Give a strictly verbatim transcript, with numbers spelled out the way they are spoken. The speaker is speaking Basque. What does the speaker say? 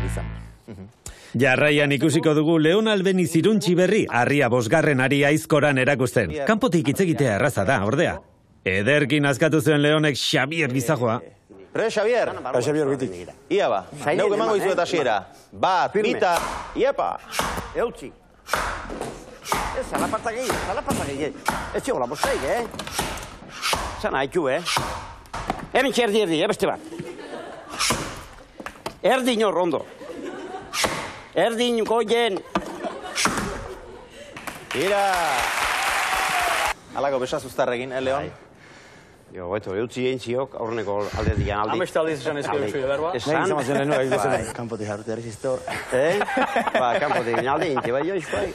izan. Jarraian ikusiko dugu Leon Albeniz iruntzi berri, harria bosgarren ari aizkoran erakusten. Kanpotik hitz egitea erraza da, ordea. Ederkin askatu zuen Leonek Xabier gizajoa. Pre, Xabier. Ba, Xabier bitik. Ia ba, neuk emango izuet hasiera. Bat, bita, iepa. Eutzi. Ez, zalapartak egin, zalapartak egin. Ez txola, bosteik, eh? Zan haitu, eh? Hemen txerdi erdi, eh, beste bat. Erdi nor, ondo. Erdin goien. Ira. Alako besazuztarrekin, eh, Leon? Jo, beto, eutzi egin ziok, aurreneko alderdian aldi. Ameste aldiz esan ezko dut berba? Esan? Nahi izan lehenu egin zen, kanpotik jarrutea erreziztor. Eh? Ba, kanpotik aldi, inti, bai, joiz, bai.